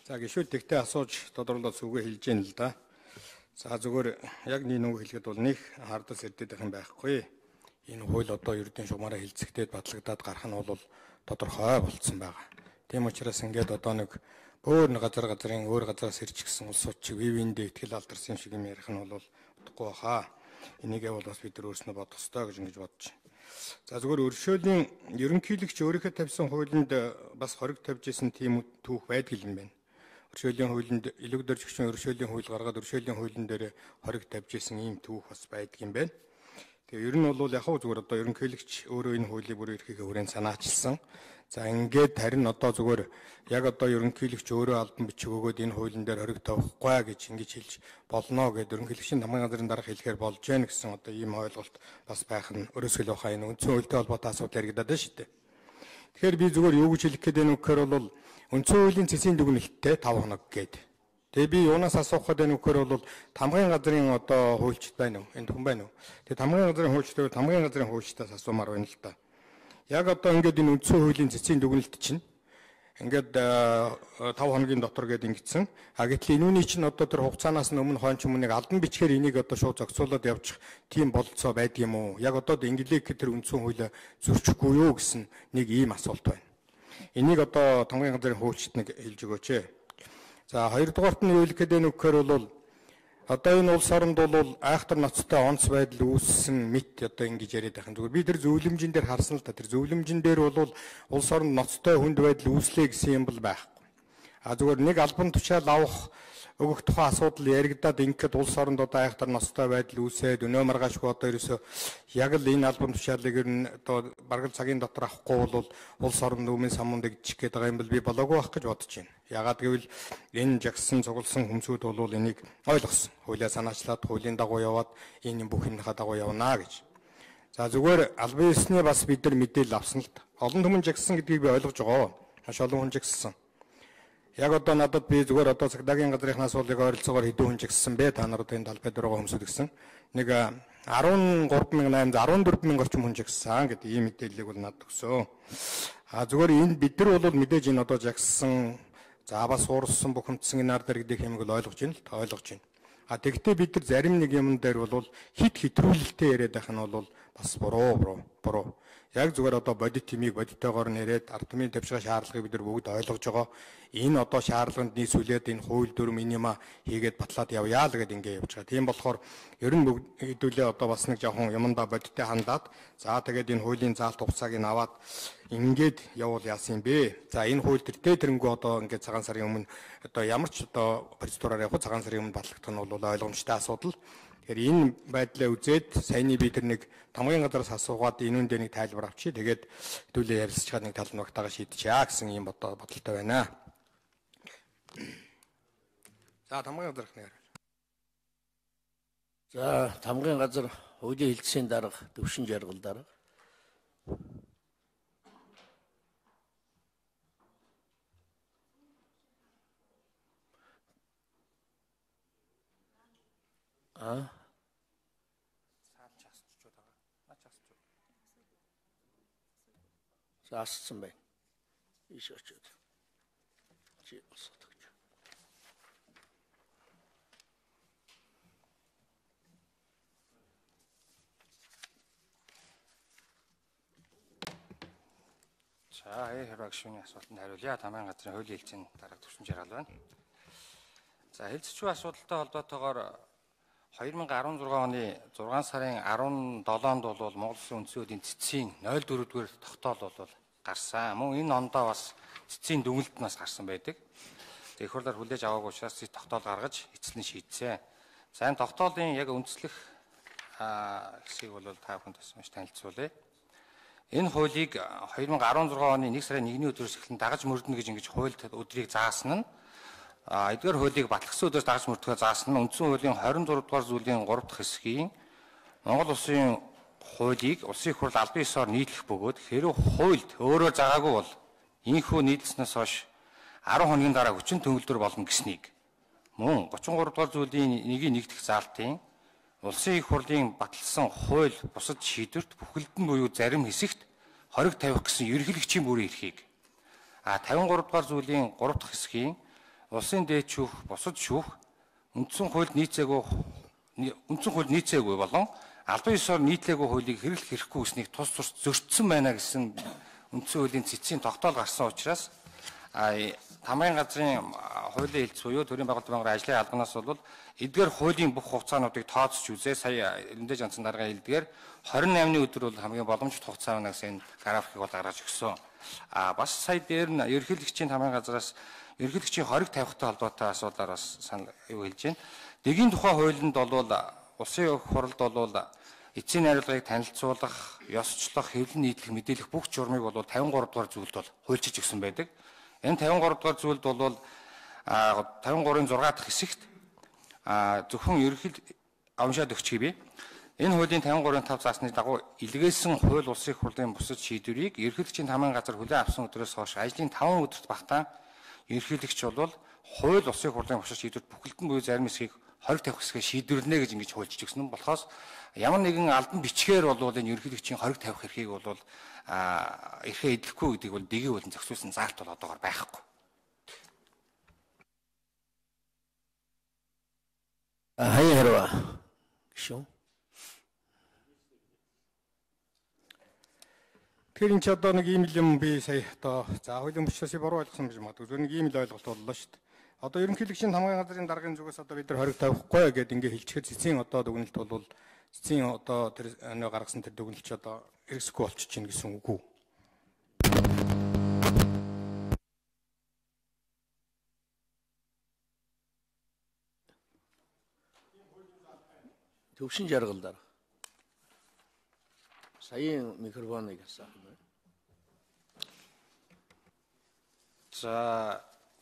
За гişүүд тэгтээ асууж тодруулаад сүгэ хэлж яана л да. За зүгээр яг нэг хэлэхэд бол нэг хардас ирдэдэх юм байхгүй. Энэ хууль одоо ердийн шугамаараа хилцэгдээд батлагдаад гарах нь бол тодорхой болцсон байгаа. Тийм учраас ингээд одоо нэг өөр нэг газрын өөр газраас ирж гисэн улс суч вивэндээ ихтгэл алдарсан шиг юм ярих нь бол утгагүй баха. Энийг бол бас бид нар өөрснөө бодох ёстой гэж ингэж бодож байна. За зүгээр өршөөлийн ерөнхийлөгч өөрийнхөө тавьсан хуулинд бас хориг тавьж исэн тийм түүх байдаг юм байна. Өршөөлийн хуулинд элэг дөржигчийн өршөөлийн хууль гаргаад өршөөлийн хуулийн дээр хориг тавьж исэн ийм түүх бас байдаг юм байна. Тэгээ ер нь бол яг зүгээр одоо ерөнхийлөгч өөрөө энэ хуулийг бүр эрхийнхээ хүрээнд санаачилсан. За ингээд харин одоо зүгээр яг одоо ерөнхийлөгч өөрөө албан бичиг өгөөд энэ хуулийн дээр хориг тавихгүй гэж ингэж хэлж болно гэд ерөнхийлөгчийн тамгын газрын дарга хэлэхээр болж гэнэ гэсэн одоо ийм ойлголт бас байх нь өрөөсгөл баха энэ үндсэн хуультай холбоотой асуудал яригадаад байна шүү дээ. Тэгэхээр би зүгээр юу гэж хэлэх гээд байна вэ гэхээр бол үндсэн хуулийн цэсийн дүгнэлттэй 5 хоног гээд. Тэгээ би юунаас асуух гээд байна вэ гэхээр бол тамгын газрын одоо хуульчд байна уу? Энд хүн байна уу? Тэгээ тамгын газрын хуульчтай тамгын газрын хуульчдаас асуумаар байна л да. Яг одоо ингээд энэ үндсэн хуулийн цэцгийн дүгнэлт чинь ингээд 5 хоногийн дотор гээд ингэсэн. Гэтэл энүүний чинь одоо тэр хугацаанаас өмнө хойч өмнөнийг албан бичгээр энийг одоо шууд зохицуулаад явчих тийм бололцоо байдгийм үү? Яг одоо инглик тэр үндсэн хуулиа зөрчихгүй юу гэсэн нэг ийм асуулт байна. Энийг одоо тамгын газрын хуульчид нэг хэлж өгөөч ээ. За хоёрдугаарт нь юу хэлэх гээд байна вэ гэхээр бол одоо энэ улс оронд бол айхтар ноцтой онц байдал үүссэн мэт одоо ингэж яриад байх юм. Зүгээр би тэр зөвлөмжийн дээр харсан л та. Тэр зөвлөмжийн дээр бол улс оронд ноцтой хүнд байдал үүслэе гэсэн юм бол байхгүй. Зүгээр нэг албан тушаал авах өгөх тухай асуудал яригадаад ингээд улс оронд одоо айхтар ноцтой байдал үүсээд өнөө маргаашгүй одоо ерөөсөө яг л энэ албан тушаалыг нь одоо бараг цагийн дотор авахгүй бол улс оронд өмнө самунд иччих гээд байгаа юм бол би болоогүй байх гэж бодож байна. Ягаад гэвэл энэ жагсан цугласан хүмсүүд бол энийг ойлгосон. Хуулиа санаачлаад хуулийн дагуу яваад энэ бүх юмнийхаа дагуу явна гэж. За зүгээр албан ёсны бас бид нар мэдээлэл авсан л та. Олон түмэн жагсан гэдгийг би ойлгож байгаа. Маш олон хүн жагсан. Яг одоо надад би зүгээр одоо цагдаагийн газрынхаас бол яг ойролцоогоор хэдэн хүн жагсан бэ? Та нар одоо энэ талбайд байгаа хүмүүсүүд гэсэн. Нэг 13800 орчим хүн жагсан гэдэг ийм мэдээллийг бол надад өгсөн. Зүгээр энэ бид нар бол мэдээж энэ одоо жагсан бас уурсан бухимдсан энэ ард иргэдийн хэмээг бол ойлгож байна л та ойлгож байна. Тэгвэл бид нар зарим нэг юм дээр бол хитрүүлэлтэй яриад байх нь бол бас буруу. Яг зүгээр одоо бодит тимийг бодиттойгоор нэрэд ард түмний тавьшгаа шаардлагыг бид нар бүгд ойлгож байгаа. Энэ одоо шаардлаганд нийсүүлээд энэ хууль дүрм минима хийгээд батлаад явъя л гэдээ ингэ явж байгаа. Тийм болохоор ер нь хэдүүлээ одоо бас нэг жоохон юмдаа бодиттой хандаад тэгээд энэ хуулийн заалт хугацааг нь аваад ингээд явуул яасан юм бэ? За энэ хууль тэрнгүү одоо ингээд цагаан сарын өмнө одоо ямар ч одоо процедураар явах цагаан сарын өмнө батлагдах нь бол ойлгомжтой асуудал. Тэгэхээр энэ байдлаа үзээд саяны би тэр нэг тамгын газраас асуугаад энүүн дээр нэг тайлбар авчи. Тэгээд хэдүүлээ ярилцж чад нэг тал ногтаага шийдчихье гэсэн юм бодолтой байна. За тамгын газрах нэр. За тамгын газар хуулийн хэлтсийн дарга Төвшин Жаргал дарга. Асцсан байна. Иш очоод. Чи босоод гэж. За хэрэгшүүний асуултанд хариулъя. Тамгын газрын хуулийн хэлтсийн дарга Төвшин Жаргал байна. За хэлцчүү асуудалтай холбоотойгоор 2016 оны 6 сарын 17-нд бол Монгол Улсын үндсэн хуулийн цэцгийн 04-р тогтоол бол гарсан. Мөн энэ ондоо бас цэцгийн дүгнэлт нь бас гарсан байдаг. Их хурлаар хүлээж аваагүй учраас тогтоол гаргаж эцэслэн шийдсэн. За энэ тогтоолын яг үндэслэх хэсгийг бол та бүхэнд бас танилцуулъя. Энэ хуулийг 2016 оны 1 сарын 1-ний өдрөөс эхлэн дагаж мөрдөнө гэж ингэж хуульд өдрийг заасан нь эдгээр хуулийг батлагдсан өдрөөс дагаж мөрдөхөөр заасан нь үндсэн хуулийн 26 дугаар зүйлийн 3 дахь хэсгийн Монгол Улсын хуулийг улсын их хурл албан ёсоор нийтлэх бөгөөд хэрэв хуульд өөрөө заагаагүй бол ийхүү нийтлснээс хойш 10 хоногийн дараа хүчин төгөлдөр болно гэснийг мөн 33 дугаар зүйлийн 1-ийн 1 дахь заалтын улсын их хурлын баталсан хууль бусад шийдвэрт бүхэлд нь буюу зарим хэсэгт хориг тавих гэсэн ерөнхийлөгчийн бүрийн эрхийг 53 дугаар зүйлийн 3 дахь хэсгийн улсын дээд шүүх, бусад шүүх үндсэн хуульд нийцээгүй болон албан ёсоор нийтлээгүй хуулийг хэрэглэх хэрэггүй гэснийг тус зөрчсөн байна гэсэн үндсэн хуулийн цэцгийн тогтоол гарсан учраас Тамгын газрын хуулийн хэлц буюу төрийн байгууллагын байнгын ажлын албанаас бол эдгээр хуулийн бүх хугацаануудыг тооцож үзээ. Сая Эрэндэж Ганцхан дарга хэлдгээр 28-ны өдөр бол хамгийн боломжит хугацаа байна гэсэн графикийг бол гаргаж өгсөн. Бас сая дээр нь ерөнхийлөгчийн Тамгын газраас ерөнхийлөгчийн хориг тавихтай холбоотой асуудлаар бас санал хэлж байна. Дэгийн тухай хуулинд бол улсын хурлд бол эцсийн найруулгыг танилцуулах, ёсчлох, хэвлэн нийтлэх, мэдээлэх бүх журмыг бол 53 дугаар зүйлд бол хуульчилж өгсөн байдаг. Энэ 53 дугаар зүйлд бол 53-ын 6 дахь хэсэгт зөвхөн ерөнхийд уншаад өгч хэвээ. Энэ хуулийн 53-ын 5 заасны дагуу илгээсэн хууль улсын хурлын бусад шийдвэрийг ерөнхийлөгчийн Тамгын газар хүлээн авсан өдрөөс хойш ажлын 5 өдөрт багтаан ерөнхийлөгч бол хууль улсын хурлын бусад шийдвэрт бүхэлдэн буюу зарим хэсгийг хориг тавих хэсгээ шийдвэрлэнэ гэж ингэж хуульчилж өгсөн нь болохоос ямар нэгэн албан бичгээр бол энэ ерөнхийлөгчийн хориг тавих эрхийг бол эрхээ эдлэхгүй гэдгийг бол дэгийн хуулийн зохицуулсан заалт бол одоогоор байхгүй. Хаяа хэрвээ шүү. Тэгэхээр энэ ч одоо нэг ийм л юм би сая одоо хуулийн бичсээс буруу ойлгосон гэж магадгүй. Зөв нэг ийм л ойлголт боллоо шүү дээ. Одоо ерөнхийлөгчийн Тамгын газрын даргын зүгээс одоо бид нар хориг тавихгүй гэдээ ингээ хэлчихээр цэцгийн одоо дүгнэлт бол цэцгийн одоо тэр гаргасан тэр дүгнэлт ч одоо хэрэгсэхгүй болчих чинь гэсэн үг үү? Төвшин жаргал дараа. Саяын микрофоныг асаах юм байна. За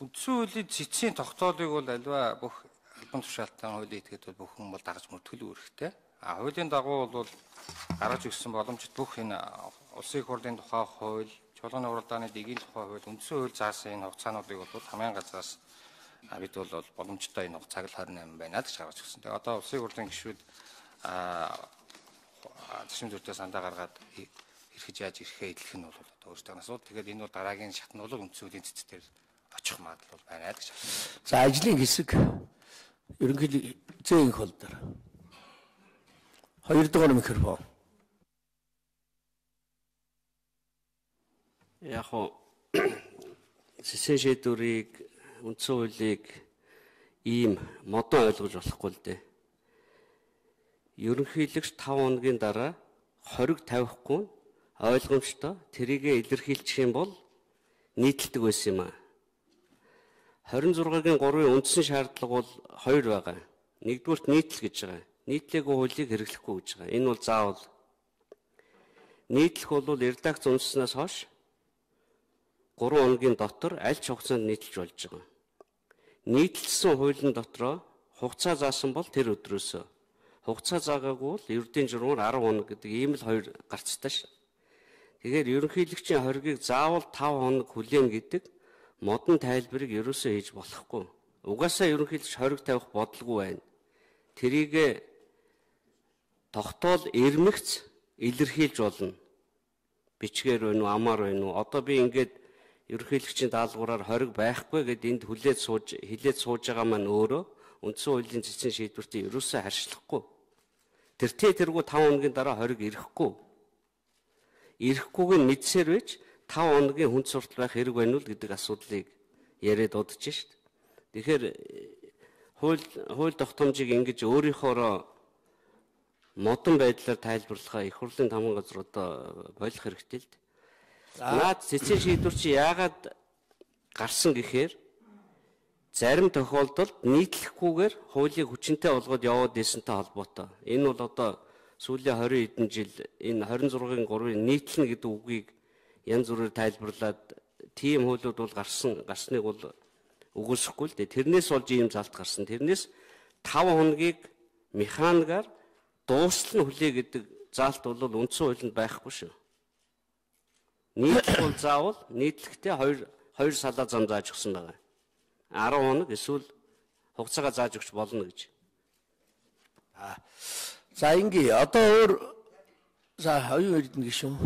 үндсэн хуулийн цэцгийн тогтоолыг бол альва бүх албан тушаалтан хуулийн этгээд бол бүхэн бол дагаж мөртгөл үүрэгтэй. Хуулийн дагуу бол гаргаж өгсөн боломжит бүх энэ улсын хурлын тухай хууль, чуулганы уралдааны дэгийн тухай хууль, үндсэн хууль заасан энэ хугацаануудыг бол Тамгын газраас бид бол боломжтой энэ хугацааг 28 байна гэж гаргаж өгсөн. Тэгээ одоо улсын хурлын гишүүд зэшин зүртээ сандаа гаргаад эрхэж яаж эрхээ эдлэх нь бол одоо өөрсдөө асуудал. Тэгээд энэ бол дараагийн шат нь бол үндсэн хуулийн цэцээр очих магадлал байна гэж байна. За ажлын хэсэг ерөнхийдөө зээнх хол дээр. 2 дугаар микрофон. Яг хоо цэцэн шийдвэрийг үндсэн хуулийг ийм модон ойлгож болохгүй л дээ. Ерөнхийлөгч 5 хоногийн дараа хориг тавихгүй ойлгомжтой тэрийгэ илэрхийлчих юм бол нийтлдэг байсан юм аа. 26-гийн 3-ын үндсэн шаардлага бол 2 байгаа. Нэгдүгürt нийтлэл гэж байгаа. Нийтлээгүй хуулийг хэрэглэхгүй гэж байгаа. Энэ бол заавал. Нийтлэх бол редакц үндэснээс хойш 3 хоногийн дотор аль ч хугацаанд нийтлж болж байгаа. Нийтлэлсэн хуулийн дотроо хугацаа заасан бол тэр өдрөөсөө. Хугацаа заагаагүй бол ердийн журмаар 10 хоног гэдэг ийм л 2 гарцтай шин. Тэгэхээр ерөнхийлөгчийн хоригийг заавал 5 хоног хүлээн гэдэг модон тайлбарыг ерөөсөө хийж болохгүй. Угаасаа ерөнхийлөгч хориг тавих бодлого байна. Тэрийг тогтоол эрмэгц илэрхийлж болно. Бичгээр байна уу, амаар байна уу? Одоо би ингээд ерөнхийлөгчийн даалгавраар хориг байхгүй гэд энд хилээд сууж байгаа маань өөрөө үндсэн хуулийн цэцэн шийдвэртээ ерөөсөө харьцлахгүй. Тэргүү 5 хоногийн дараа хориг ирэхгүй. Ирэхгүйг нь мэдсээр байж 5 хоногийн хүнд суртал байх хэрэг байна уу гэдэг асуудлыг яриад удаж шít. Тэгэхээр хууль тогтоомжийг ингэж өөрийнхоороо модон байдлаар тайлбарлахаа их хурлын Тамгын газар одоо болох хэрэгтэй л дээ. Наад цэцэн шийдвэр чи яагаад гарсан гэхээр зарим тохиолдолд нийтлэхгүйгээр хуулийг хүчинтэй болгоод яваад ирсэнтэй холбоотой. Энэ бол одоо сүүлийн 20 хэдэн жил энэ 26-гийн 3-ыг нийтлэнэ гэдэг үгийг янз бүрээр тайлбарлаад тийм хуулиуд бол гарсныг бол үгүйсэхгүй л дээ. Тэрнээс болж ийм залт гарсан. Тэрнээс 5 хоногийг механикаар дуустал нь хүлээ гэдэг заалт бол үндсэн хуулинд байхгүй шүү. Нийтлэх бол заавал нийтлэхдээ 2 салаа зам зааж өгсөн байгаа. 10 хоног эсвэл хугацаагаа зааж өгч болно гэж. За ингээ одоо өөр за хоёрын эрдэнэ гишүүн